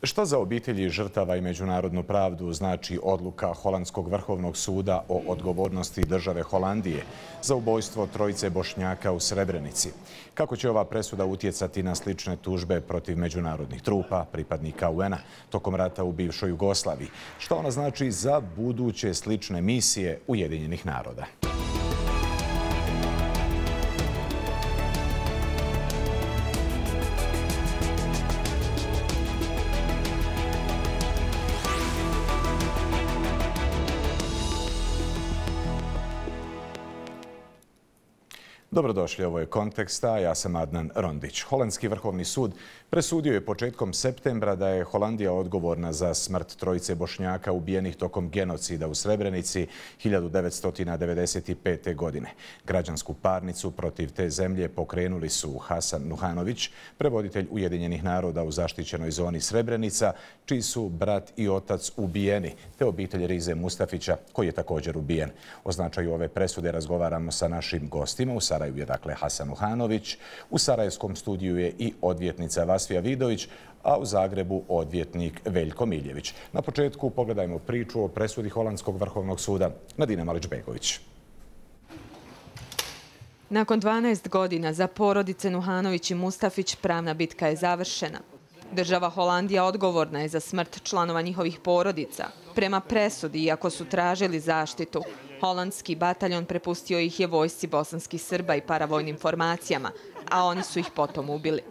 Šta za obitelji žrtava i međunarodnu pravdu znači odluka Holandskog vrhovnog suda o odgovornosti države Holandije za ubojstvo trojice Bošnjaka u Srebrenici? Kako će ova presuda utjecati na slične tužbe protiv međunarodnih trupa, pripadnika UN-a, tokom rata u bivšoj Jugoslaviji? Šta ona znači za buduće slične misije Ujedinjenih naroda? Dobrodošli, ovo je Kontekst, a ja sam Adnan Rondić. Holandski vrhovni sud presudio je početkom septembra da je Holandija odgovorna za smrt trojice Bošnjaka ubijenih tokom genocida u Srebrenici 1995. godine. Građansku parnicu protiv te zemlje pokrenuli su Hasan Nuhanović, prevoditelj Ujedinjenih naroda u zaštićenoj zoni Srebrenica, čiji su brat i otac ubijeni, te obitelj Rize Mustafića, koji je također ubijen. O značaju ove presude razgovaramo sa našim gostima. U Sarajevu je dakle Hasan Nuhanović, u sarajevskom studiju je i odvjetnica Vasfija Vidović, a u Zagrebu odvjetnik Veljko Miljević. Na početku pogledajmo priču o presudi Holandskog vrhovnog suda. Nadina Malić-Begović. Nakon 12 godina za porodice Nuhanović i Mustafić pravna bitka je završena. Država Holandija odgovorna je za smrt članova njihovih porodica. Prema presudi, iako su tražili zaštitu, holandski bataljon prepustio ih je vojsci bosanskih Srba i paravojnim formacijama, a oni su ih potom ubili.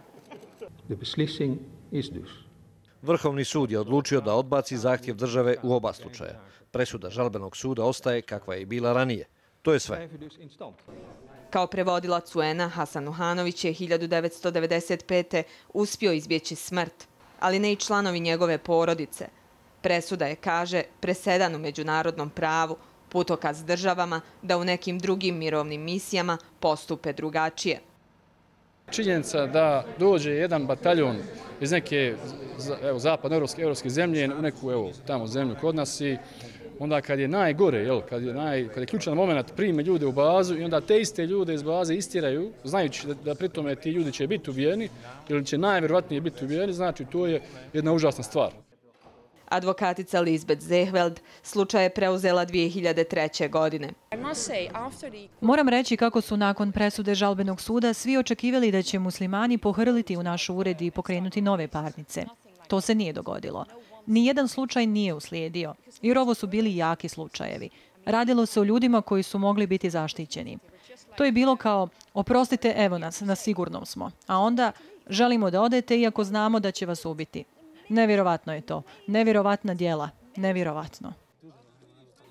Vrhovni sud je odlučio da odbaci zahtjev države u oba slučaja. Presuda žalbenog suda ostaje kakva je i bila ranije. To je sve. Kao prevodilac UN-a, Hasan Nuhanović je 1995. uspio izbjeći smrt, ali ne i članovi njegove porodice. Presuda je, kaže, presedan u međunarodnom pravu, putokaz državama da u nekim drugim mirovnim misijama postupe drugačije. Činjenica da dođe jedan bataljon iz neke zapadnoevropske zemlje u neku tamo zemlju kod nas i onda kad je najgore, kad je ključan moment, prime ljude u bazu i onda te iste ljude iz baze istiraju, znajući da pritome ti ljudi će biti ubijeni ili će najvjerovatnije biti ubijeni, znači to je jedna užasna stvar. Advokatica Lisbeth Zehveld slučaj je preuzela 2003. godine. Moram reći kako su nakon presude žalbenog suda svi očekivali da će muslimani pohrliti u naš ured i pokrenuti nove parnice. To se nije dogodilo. Nijedan slučaj nije uslijedio, jer ovo su bili jaki slučajevi. Radilo se o ljudima koji su mogli biti zaštićeni. To je bilo kao, oprostite, evo nas, na sigurnom smo. A onda, želimo da odete iako znamo da će vas ubiti. Nevjerovatno je to. Nevjerovatna djela. Nevjerovatno.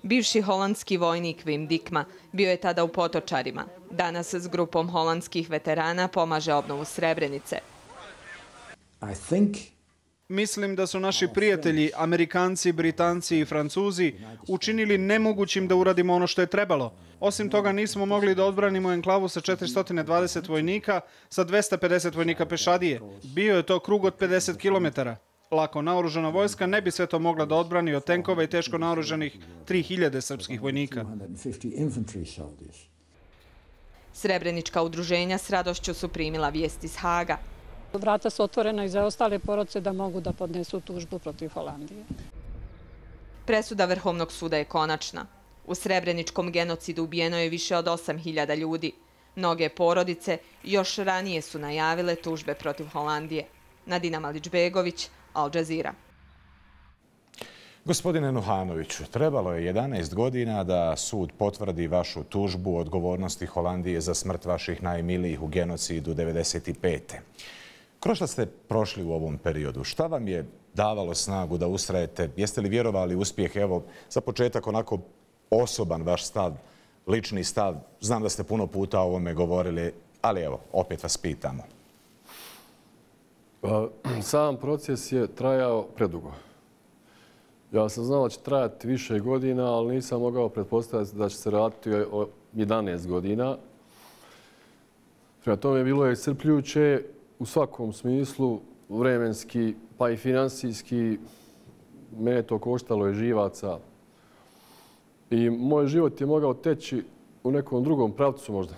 Bivši holandski vojnik Wim Dikma bio je tada u Potočarima. Danas s grupom holandskih veterana pomaže obnovu Srebrenice. Mislim da su naši prijatelji, Amerikanci, Britanci i Francuzi, učinili nemogućim da uradimo ono što je trebalo. Osim toga nismo mogli da odbranimo enklavu sa 420 vojnika, sa 250 vojnika pešadije. Bio je to krug od 50 kilometara. Lako naoružana vojska ne bi sve to mogla da odbrani od tenkova i teško naoružanih 3000 srpskih vojnika. Srebrenička udruženja s radošću su primila vijest iz Haga. Vrata su otvorena i za ostale porodice da mogu da podnesu tužbu protiv Holandije. Presuda Vrhovnog suda je konačna. U Srebreničkom genocidu ubijeno je više od 8000 ljudi. Mnoge porodice još ranije su najavile tužbe protiv Holandije. Nadina Malić-Begović, Al Jazeera. Gospodine Nuhanoviću, trebalo je 11 godina da sud potvrdi vašu tužbu odgovornosti Holandije za smrt vaših najmilijih u genocidu 1995. Kroz šta ste prošli u ovom periodu? Šta vam je davalo snagu da ustrajete? Jeste li vjerovali u uspjeh? Evo, za početak onako osoban vaš stav, lični stav. Znam da ste puno puta o ovome govorili, ali evo, opet vas pitamo. Sam proces je trajao predugo. Ja sam znao da će trajati više godina, ali nisam mogao pretpostaviti da će se raditi o 11 godina. Prema tome bilo je iscrpljujuće u svakom smislu, vremenski, pa i financijski. Mene to koštalo je živaca. I moj život je mogao teći u nekom drugom pravcu možda.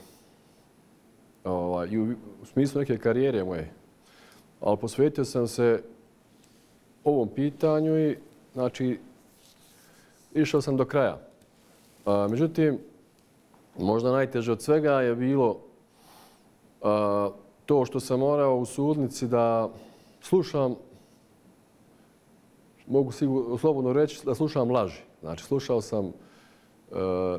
I u smislu neke karijere moje. Ali posvetio sam se ovom pitanju i znači išao sam do kraja. Međutim, možda najteže od svega je bilo to što sam morao u sudnici da slušam, mogu slobodno reći da slušam laži. Znači, slušao sam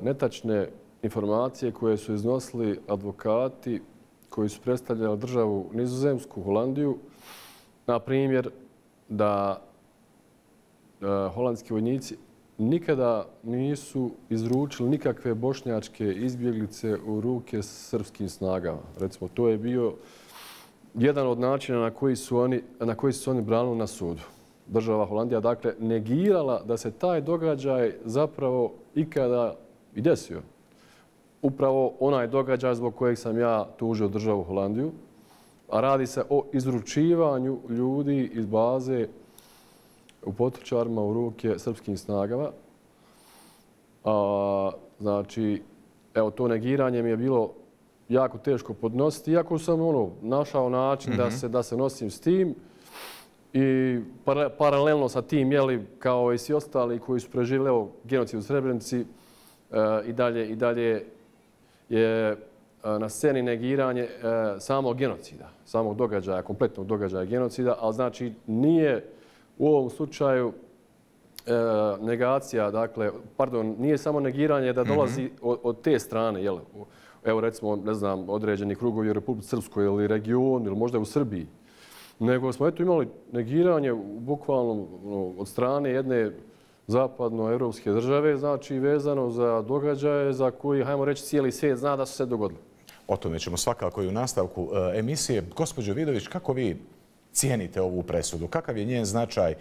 netačne informacije koje su iznosili advokati koji su predstavljali državu Nizozemsku, Holandiju. Na primjer, da holandski vojnici nikada nisu izručili nikakve bošnjačke izbjeglice u ruke srpskim snagama. Recimo, to je bio jedan od načina na koji su oni branili na sudu. Država Holandija, dakle, negirala da se taj događaj zapravo ikada i desio. Upravo onaj događaj zbog kojeg sam ja tužio državu Holandiju, a radi se o izručivanju ljudi iz baze u Potvrčarima u ruke srpskim snagama. Znači, evo, to negiranje mi je bilo jako teško podnositi, iako sam našao način da se nosim s tim i paralelno sa tim, kao i svi ostali koji su preživjeli genocid u Srebrenici, i dalje je na sceni negiranje samog genocida, samog događaja, kompletnog događaja genocida, ali znači nije u ovom slučaju negacija, dakle, pardon, nije samo negiranje da dolazi od te strane, evo recimo, ne znam, određeni krugovi u Republici Srpskoj ili region ili možda u Srbiji, nego smo imali negiranje bukvalno od strane jedne zapadnoevropske države, znači vezano za događaje za koji, hajmo reći, cijeli svijet zna da su se dogodili. O tome ćemo svakako i u nastavku emisije. Gospođo Vidović, kako vi cijenite ovu presudu? Kakav je njen značaj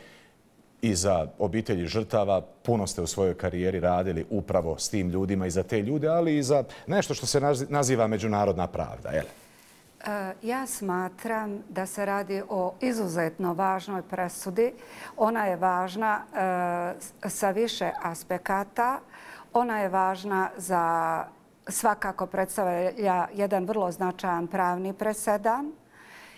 i za obitelji žrtava? Puno ste u svojoj karijeri radili upravo s tim ljudima i za te ljude, ali i za nešto što se naziva međunarodna pravda. Ja smatram da se radi o izuzetno važnoj presudi. Ona je važna sa više aspekata. Ona je važna za svakako predstavlja jedan vrlo značajan pravni presedan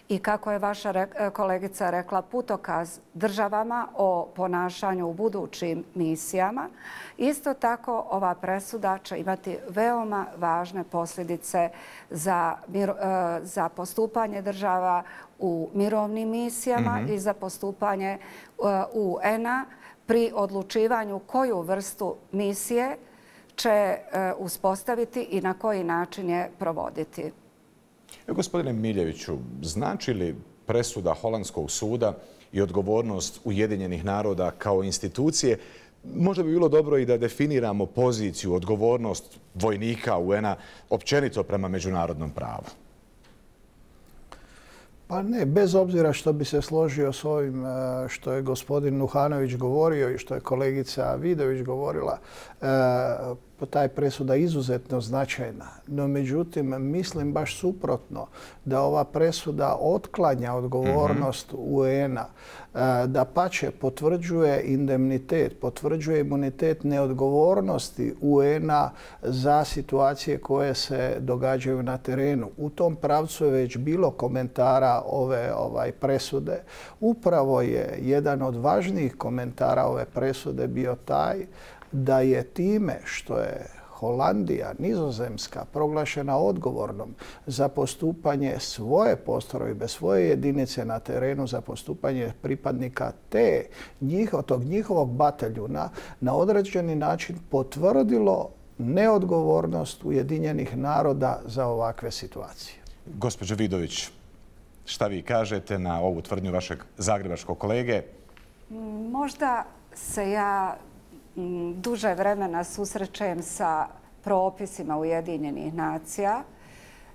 i kako je vaša kolegica rekla, putokaz državama o ponašanju u budućim misijama. Isto tako ova presuda će imati veoma važne posljedice za postupanje država u mirovnim misijama i za postupanje UN-a pri odlučivanju koju vrstu misije će uspostaviti i na koji način je provoditi. Gospodine Miljeviću, znači li presuda Holandskog suda i odgovornost Ujedinjenih naroda kao institucije, možda bi bilo dobro i da definiramo poziciju, odgovornost vojnika UN-a općenito prema međunarodnom pravu? Pa ne, bez obzira što bi se složio s ovim što je gospodin Nuhanović govorio i što je kolegica Vidović govorila, ta je presuda izuzetno značajna. No, međutim, mislim baš suprotno da ova presuda otklanja odgovornost UN-a, da pače potvrđuje indemnitet, potvrđuje imunitet neodgovornosti UN-a za situacije koje se događaju na terenu. U tom pravcu je već bilo komentara ove presude. Upravo je jedan od važnijih komentara ove presude bio taj da je time što je Holandija, Nizozemska, proglašena odgovornom za postupanje svoje postrojbe, svoje jedinice na terenu, za postupanje pripadnika tog njihovog bataljuna, na određeni način potvrdilo neodgovornost Ujedinjenih naroda za ovakve situacije. Gospođo Vidović, šta vi kažete na ovu tvrdnju vašeg zagrebačkog kolege? Možda se ja duže vremena susrećem sa propisima Ujedinjenih nacija.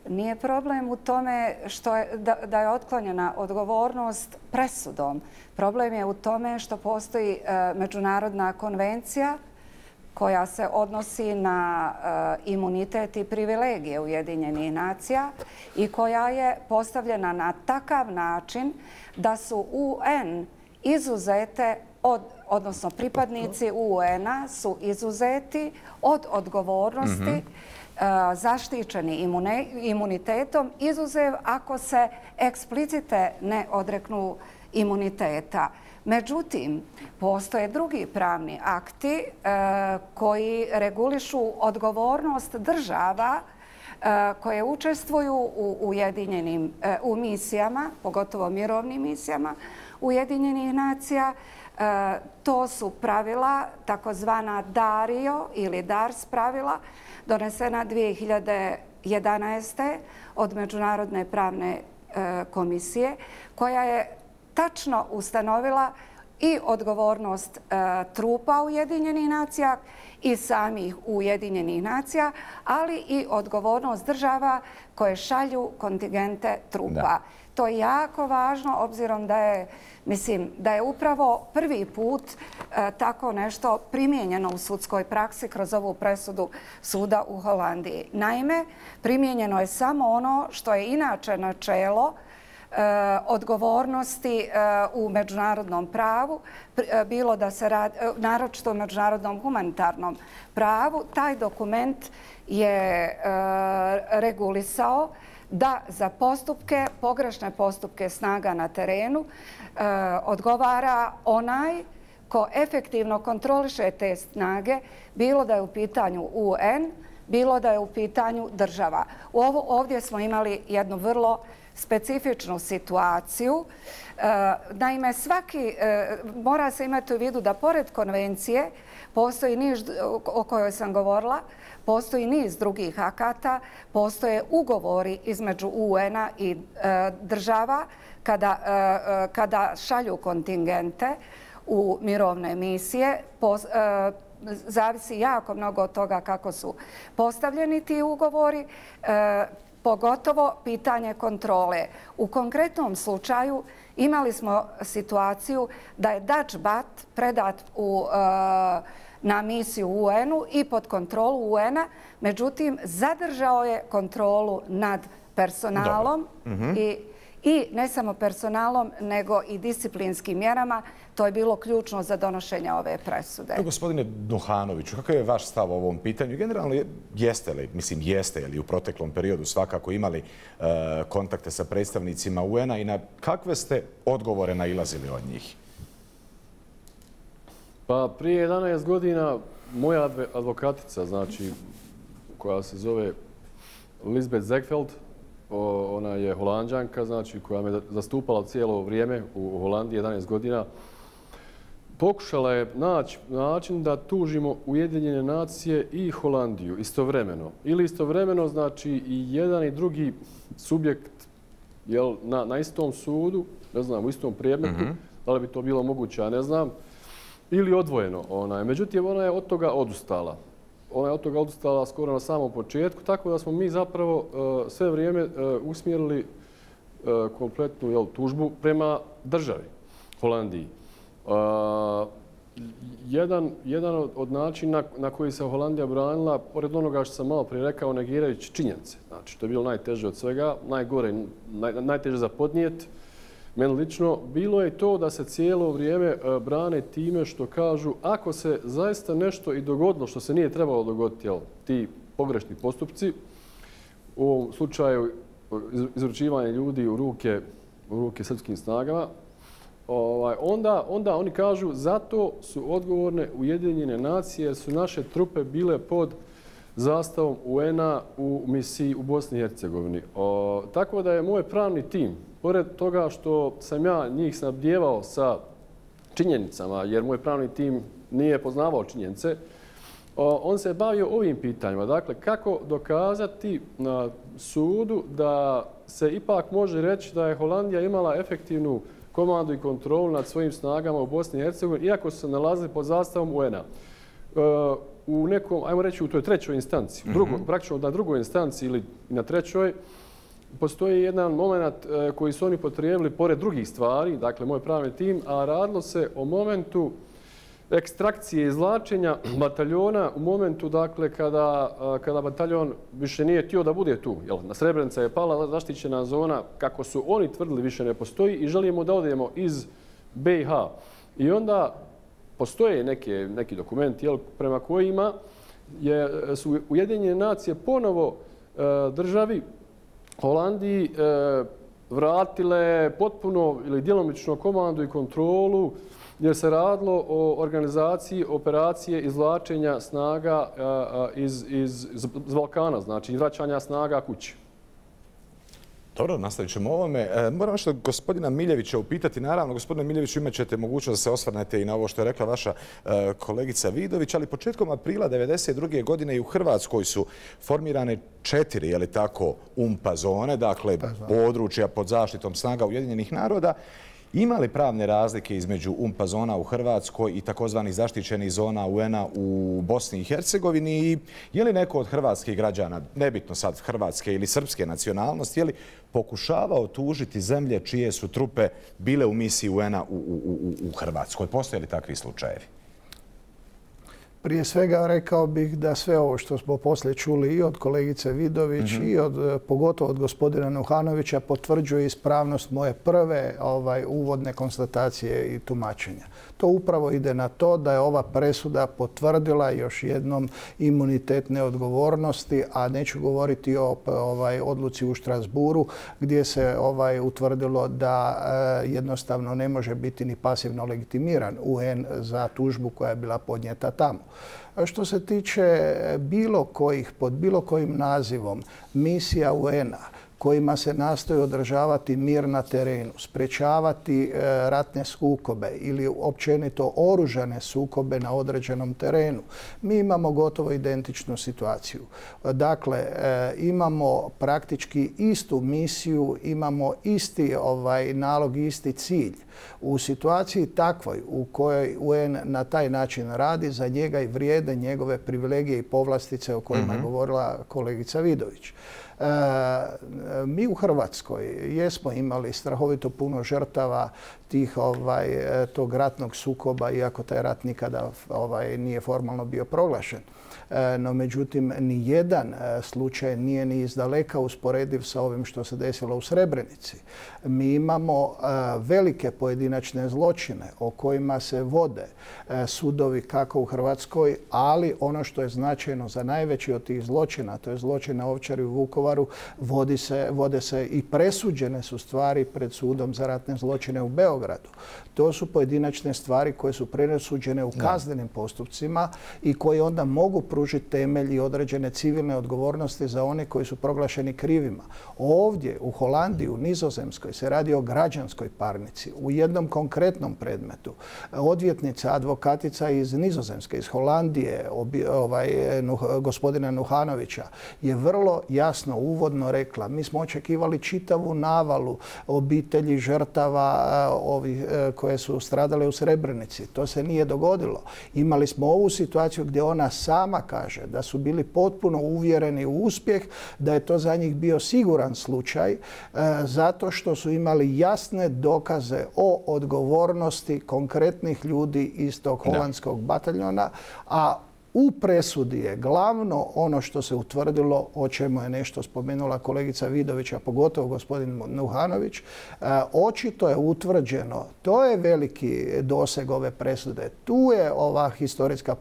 Nije problem u tome da je otklonjena odgovornost presudom. Problem je u tome što postoji međunarodna konvencija koja se odnosi na imunitet i privilegije Ujedinjenih nacija i koja je postavljena na takav način da su UN izuzete odnosno pripadnici UN-a su izuzeti od odgovornosti, zaštićeni imunitetom, izuzev ako se eksplicite ne odreknu imuniteta. Međutim, postoje drugi pravni akti koji regulišu odgovornost država koje učestvuju u misijama, pogotovo mirovnim misijama Ujedinjenih nacija. To su pravila, takozvana DARIO ili DARS pravila, donesena 2011. od Međunarodne pravne komisije, koja je tačno ustanovila i odgovornost trupa Ujedinjenih nacija i samih Ujedinjenih nacija, ali i odgovornost država koje šalju kontingente trupa. To je jako važno, obzirom da je upravo prvi put tako nešto primijenjeno u sudskoj praksi kroz ovu presudu suda u Holandiji. Naime, primijenjeno je samo ono što je inače načelo odgovornosti u međunarodnom pravu, bilo da se radi, naročito u međunarodnom humanitarnom pravu. Taj dokument je regulisao da za postupke, pogrešne postupke snaga na terenu odgovara onaj ko efektivno kontroliše te snage, bilo da je u pitanju UN, bilo da je u pitanju država. Ovdje smo imali jednu vrlo specifičnu situaciju. Naime, mora se imati u vidu da pored konvencije postoji niz o kojoj sam govorila, postoji niz drugih akata, postoje ugovori između UN-a i država kada šalju kontingente u mirovne misije. Zavisi jako mnogo od toga kako su postavljeni ti ugovori, pogotovo pitanje kontrole. U konkretnom slučaju imali smo situaciju da je Dutch Bat predat na misiju UN-u i pod kontrolu UN-a, međutim zadržao je kontrolu nad personalom i ne samo personalom, nego i disciplinskim mjerama. To je bilo ključno za donošenje ove presude. Gospodine Nuhanoviću, kakav je vaš stav o ovom pitanju? Generalno, jeste li u proteklom periodu svakako imali kontakte sa predstavnicima UN-a i na kakve ste odgovore nailazili od njih? Pa prije 11 godina moja advokatica, znači, koja se zove Lisbeth Zegveld, ona je Holanđanka, znači, koja me zastupala cijelo vrijeme u Holandiji 11 godina, pokušala je naći način da tužimo Ujedinjene nacije i Holandiju istovremeno. Ili istovremeno, znači, i jedan i drugi subjekt na istom sudu, ne znam, u istom predmetu, da li bi to bilo moguće, ja ne znam, ili odvojeno. Međutim, ona je od toga odustala. Ona je od toga odustala skoro na samom početku, tako da smo mi zapravo sve vrijeme usmjerili kompletnu tužbu prema državi, Holandiji. Jedan od načina na koji se Holandija branila, pored onoga što sam malo prije rekao, negirajući činjenice. Znači, to je bilo najteže od svega, najgore, najteže za podnijet. Meni lično bilo je to da se cijelo vrijeme brane time što kažu ako se zaista nešto i dogodilo što se nije trebalo dogoditi, ti pogrešni postupci, u ovom slučaju izručivanje ljudi u ruke srpskim snagama, onda oni kažu zato su odgovorne Ujedinjene nacije jer su naše trupe bile pod zastavom UN-a u misiji u Bosni i Hercegovini. Tako da je moj pravni tim, pored toga što sam ja njih snabdijevao sa činjenicama, jer moj pravni tim nije poznavao činjenice, on se bavio ovim pitanjima. Dakle, kako dokazati na sudu da se ipak može reći da je Holandija imala efektivnu komandu i kontrolu nad svojim snagama u Bosni i Hercegovini, iako su se nalazili pod zastavom UN-a. U nekom, ajmo reći, u toj trećoj instanci, praktično na drugoj instanci ili na trećoj, postoji jedan moment koji su oni potrijebili pored drugih stvari, dakle moj pravni tim, a radilo se o momentu ekstrakcije izvlačenja bataljona u momentu dakle kada bataljon više nije htio da bude tu. Srebrenica je pala, zaštićena zona, kako su oni tvrdili, više ne postoji i želimo da odemo iz BiH. I onda postoje neki dokumenti prema kojima su Ujedinjene nacije ponovo državi Holandiji vratile potpuno ili djelomično komandu i kontrolu jer se radilo o organizaciji operacije izvlačenja snaga iz Balkana, znači vraćanja snaga kući. Dobro, nastavit ćemo ovome. Moram nešto gospodina Miljevića upitati. Naravno, gospodine Miljeviću, imat ćete mogućnost da se osvrnete i na ovo što je rekla vaša kolegica Vidović, ali početkom aprila 1992. godine i u Hrvatskoj su formirane 4, je li tako, UNPA zone, dakle područja pod zaštitom snaga Ujedinjenih naroda. Ima li pravne razlike između UNPA zona u Hrvatskoj i takozvanih zaštićenih zona UN-a u Bosni i Hercegovini i je li neko od hrvatskih građana, nebitno sad hrvatske ili srpske nacionalnosti, je li pokušavao tužiti zemlje čije su trupe bile u misiji UN-a u Hrvatskoj? Postoje li takvi slučajevi? Prije svega rekao bih da sve ovo što smo poslije čuli i od kolegice Vidović i pogotovo od gospodina Nuhanovića potvrđuje ispravnost moje prve uvodne konstatacije i tumačenja. To upravo ide na to da je ova presuda potvrdila još jednom imunitet neodgovornosti, a neću govoriti o odluci u Štrasburu gdje se utvrdilo da jednostavno ne može biti ni pasivno legitimiran UN za tužbu koja je bila podnijeta tamo. Što se tiče bilo kojih, pod bilo kojim nazivom misija UN-a kojima se nastoji održavati mir na terenu, sprečavati ratne sukobe ili općenito oružane sukobe na određenom terenu, mi imamo gotovo identičnu situaciju. Dakle, imamo praktički istu misiju, imamo isti nalog, isti cilj. U situaciji takvoj u kojoj UN na taj način radi, za njega i vrijede njegove privilegije i povlastice o kojima je govorila kolegica Vidović. Mi u Hrvatskoj jesmo imali strahovito puno žrtava tog ratnog sukoba, iako taj rat nikada nije formalno bio proglašen. No, međutim, ni jedan slučaj nije ni izdaleka usporediv sa ovim što se desilo u Srebrenici. Mi imamo velike pojedinačne zločine o kojima se vode sudovi kako u Hrvatskoj, ali ono što je značajno za najveći od tih zločina, to je zločin na Ovčari u Vukovaru, vode se i presuđene su stvari pred sudom za ratne zločine u Beogradu. To su pojedinačne stvari koje su presuđene u kaznenim postupcima i koje onda mogu pružiti temelj i određene civilne odgovornosti za one koji su proglašeni krivima. Ovdje u Holandiji, u Nizozemskoj se radi o građanskoj parnici. U jednom konkretnom predmetu odvjetnica, advokatica iz Nizozemske, iz Holandije, gospodina Nuhanovića, je vrlo jasno uvodno rekla: mi smo očekivali čitavu navalu obitelji žrtava koje su stradale u Srebrenici. To se nije dogodilo. Imali smo ovu situaciju gdje ona sama kaže da su bili potpuno uvjereni u uspjeh, da je to za njih bio siguran slučaj, zato što su imali jasne dokaze o odgovornosti konkretnih ljudi iz tog holandskog bataljona, a u presudi je glavno ono što se utvrdilo, o čemu je nešto spomenula kolegica Vidović, a pogotovo gospodin Nuhanović. Očito je utvrđeno, to je veliki doseg ove presude, tu je ova historijska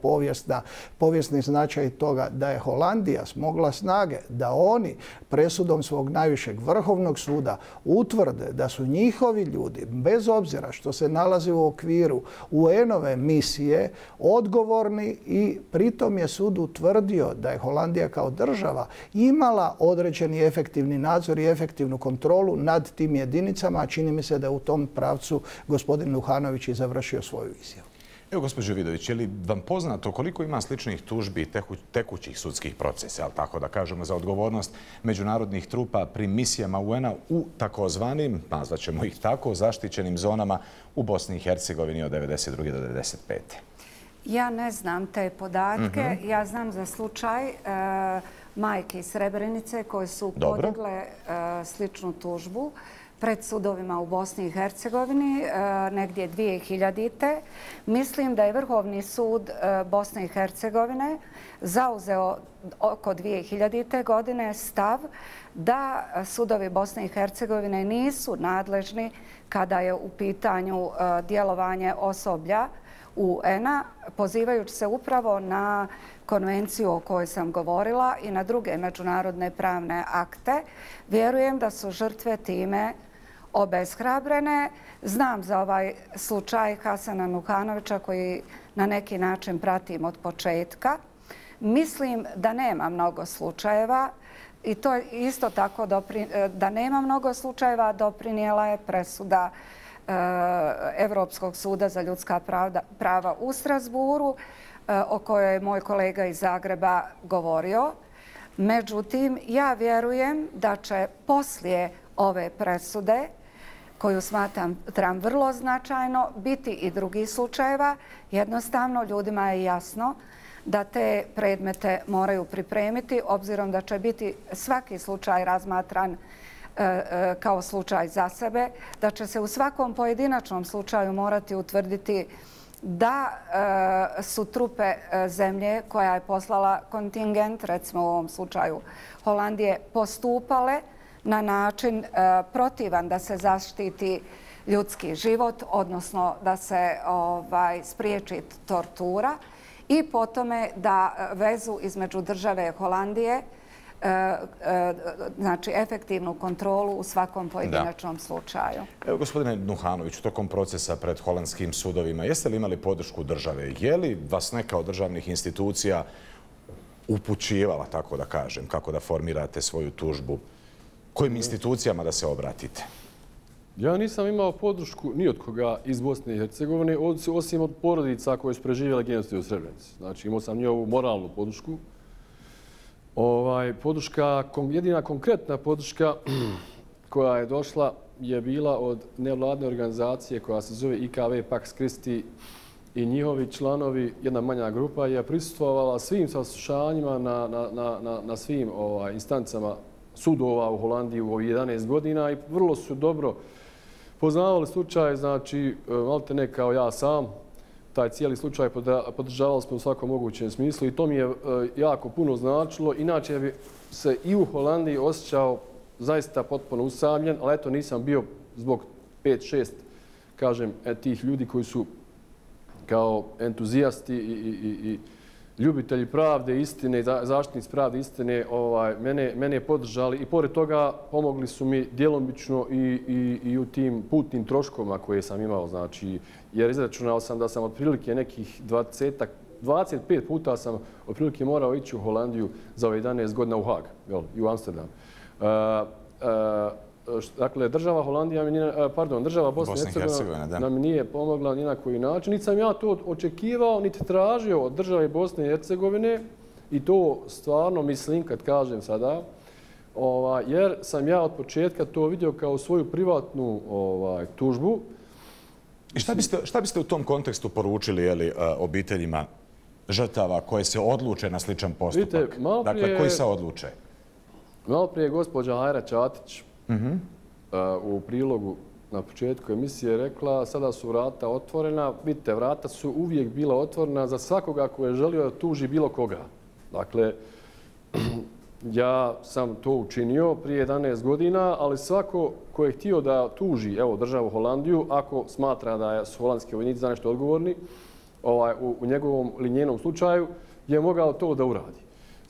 povijesni značaj toga da je Holandija smogla snage da oni presudom svog najvišeg vrhovnog suda utvrde da su njihovi ljudi, bez obzira što se nalazi u okviru UN-ove misije, odgovorni i pritom je sud utvrdio da je Holandija kao država imala određeni efektivni nadzor i efektivnu kontrolu nad tim jedinicama, a čini mi se da je u tom pravcu gospodin Nuhanović i završio svoju izjavu. Evo, gospođo Vidović, je li vam poznato koliko ima sličnih tužbi i tekućih sudskih procesa, ali tako da kažemo, za odgovornost međunarodnih trupa pri misijama UN-a u takozvanim, nazvaćemo ih tako, zaštićenim zonama u Bosni i Hercegovini od 1992. do 1995. Ja ne znam te podatke. Ja znam za slučaj majke iz Srebrenice koje su podigle sličnu tužbu pred sudovima u Bosni i Hercegovini negdje 2000. Mislim da je Vrhovni sud Bosne i Hercegovine zauzeo oko 2000. godine stav da sudovi Bosne i Hercegovine nisu nadležni kada je u pitanju djelovanje osoblja UN-a, pozivajući se upravo na konvenciju o kojoj sam govorila i na druge međunarodne pravne akte. Vjerujem da su žrtve time obeshrabrene. Znam za ovaj slučaj Hasana Nuhanovića koji na neki način pratim od početka. Mislim da nema mnogo slučajeva i to isto tako da nema mnogo slučajeva doprinijela je presuda Evropskog suda za ljudska prava u Strasburu o kojoj je moj kolega iz Zagreba govorio. Međutim, ja vjerujem da će poslije ove presude, koju smatram vrlo značajno, biti i drugih slučajeva. Jednostavno, ljudima je jasno da te predmete moraju pripremiti, obzirom da će biti svaki slučaj razmatran kao slučaj za sebe, da će se u svakom pojedinačnom slučaju morati utvrditi da su trupe zemlje koja je poslala kontingent, recimo u ovom slučaju Holandije, postupale na način protivan da se zaštiti ljudski život, odnosno da se spriječi tortura i po tome da vezu između države Holandije, znači efektivnu kontrolu u svakom pojedinačnom slučaju. Evo, gospodine Nuhanoviću, tokom procesa pred holandskim sudovima, jeste li imali podršku države? Je li vas neka od državnih institucija upućivala, tako da kažem, kako da formirate svoju tužbu? Kojim institucijama da se obratite? Ja nisam imao podršku ni od koga iz Bosne i Hercegovine, osim od porodica koje su preživjeli genocid u Srebrenici. Znači, imao sam njihovu moralnu podršku. Jedina konkretna podrška koja je došla je bila od nevladne organizacije koja se zove IKV Pax Christi i njihovi članovi, jedna manja grupa, je prisustvovala svim saslušanjima na svim instancama sudova u Holandiji u 11 godina i vrlo su dobro poznavali slučaj, znači, malte ne kao ja sam, taj cijeli slučaj podržavali smo u svakom mogućem smislu i to mi je jako puno značilo. Inače bi se i u Holandiji osjećao zaista potpuno usamljen, ali eto nisam bio zbog 5-6, kažem, tih ljudi koji su kao entuzijasti i ljubitelji pravde, istine i zaštitnici pravde, istine, mene podržali i pored toga pomogli su mi djelomično i u tim putnim troškovima koje sam imao, znači, jer izračunao sam da sam otprilike nekih 25 puta sam otprilike morao ići u Holandiju za ove 11 godina u Haag i u Amsterdam. Dakle, država Bosne i Hercegovine nam nije pomogla ni na koji način. Niti sam ja to očekivao, niti tražio od države Bosne i Hercegovine i to stvarno mislim kad kažem sada, jer sam ja od početka to vidio kao svoju privatnu tužbu. I šta biste u tom kontekstu poručili obiteljima žrtava koje se odluče na sličan postupak? Dakle, koji se odluče? Malo prije gospođa Hajra Čatić u prilogu na početku emisije rekla sada su vrata otvorena. Vidite, vrata su uvijek bila otvorena za svakoga ko je želio da tuži bilo koga. Dakle, ja sam to učinio prije 11 godina, ali svako ko je htio da tuži državu Holandiju, ako smatra da su holandski vojnici za nešto odgovorni, u njegovom ili njenom slučaju, je mogao to da uradi.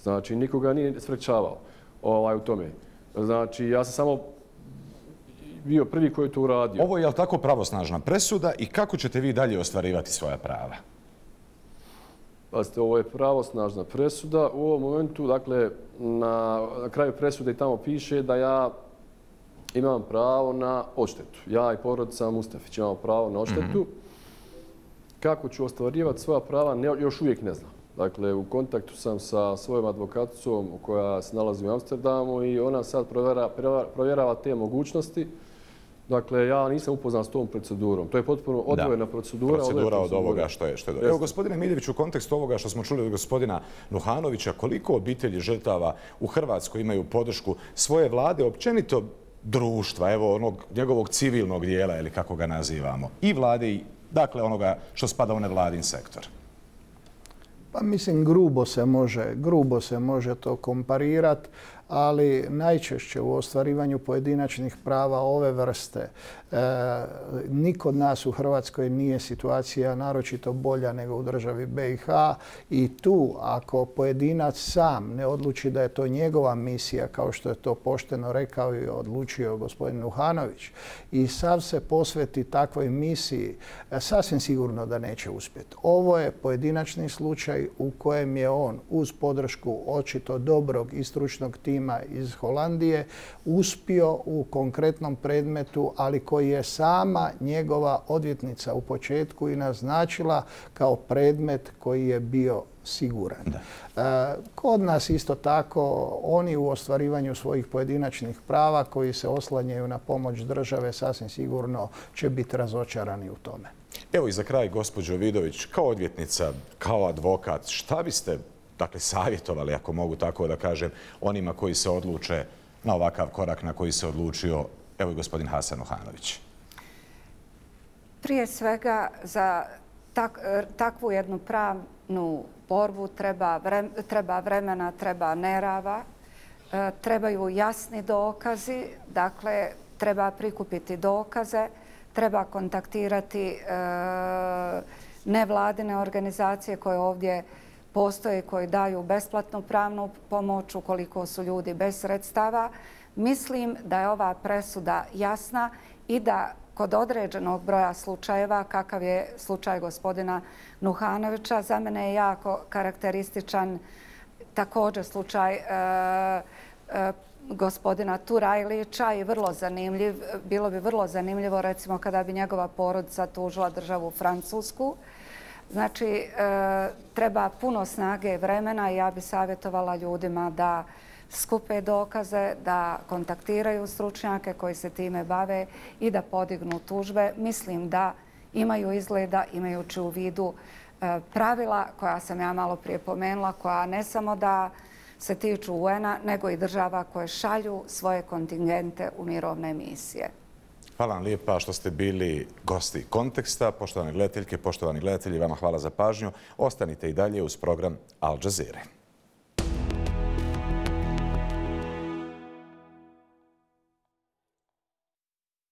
Znači, nikoga nije sprečavao u tome. Znači, ja sam samo bio prvi koji je to uradio. Ovo je li tako pravosnažna presuda i kako ćete vi dalje ostvarivati svoja prava? Pazite, ovo je pravosnažna presuda. U ovom momentu, dakle, na kraju presude tamo piše da ja imam pravo na odštetu. Ja i porodica Mustafić imamo pravo na odštetu. Kako ću ostvarivati svoja prava, još uvijek ne znam. Dakle, u kontaktu sam sa svojom advokaticom koja se nalazi u Amsterdamu i ona sad provjerava te mogućnosti. Dakle, ja nisam upoznat s tom procedurom. To je potpuno odvojena procedura. Procedura od ovoga što je. Evo, gospodine Miljević, u kontekstu ovoga što smo čuli od gospodina Nuhanovića, koliko obitelji žrtava u Hrvatskoj imaju podršku svoje vlade, općenito društva, evo onog njegovog civilnog dijela, ili kako ga nazivamo, i vlade, i dakle onoga što spada u nevladin sektor? Pa mislim, grubo se može to komparirati. ali najčešće u ostvarivanju pojedinačnih prava ove vrste niko od nas u Hrvatskoj nije situacija naročito bolja nego u državi BiH i tu ako pojedinac sam ne odluči da je to njegova misija, kao što je to pošteno rekao i odlučio gospodin Nuhanović, i sav se posveti takvoj misiji, sasvim sigurno da neće uspjeti. Ovo je pojedinačni slučaj u kojem je on uz podršku očito dobrog i stručnog tima iz Holandije uspio u konkretnom predmetu, ali koji je sama njegova odvjetnica u početku i naznačila kao predmet koji je bio siguran. Kod nas isto tako oni u ostvarivanju svojih pojedinačnih prava koji se oslanjaju na pomoć države sasvim sigurno će biti razočarani u tome. Evo i za kraj, gospođo Vidović, kao odvjetnica, kao advokat, šta biste savjetovali, ako mogu tako da kažem, onima koji se odluče na ovakav korak na koji se odlučio, evo i gospodin Hasan Nuhanović? Prije svega za takvu jednu pravnu borbu treba vremena, treba nerava, trebaju jasni dokazi, dakle treba prikupiti dokaze, treba kontaktirati nevladine organizacije koje ovdje postoje, koji daju besplatnu pravnu pomoć ukoliko su ljudi bez sredstava. Mislim da je ova presuda jasna i da kod određenog broja slučajeva, kakav je slučaj gospodina Nuhanovića, za mene je jako karakterističan također slučaj gospodina Turajlića i vrlo zanimljiv. Bilo bi vrlo zanimljivo recimo kada bi njegova porodica tužila državu Francusku. Znači, treba puno snage i vremena i ja bi savjetovala ljudima da skupe dokaze, da kontaktiraju stručnjake koji se time bave i da podignu tužbe. Mislim da imaju izgleda, imajući u vidu pravila koja sam ja malo prije pomenula, koja ne samo da se tiču UN-a, nego i država koje šalju svoje kontingente u mirovne misije. Hvala vam lijepa što ste bili gosti Konteksta. Poštovane gledateljke, poštovani gledatelji, vama hvala za pažnju. Ostanite i dalje uz program Al Jazeere.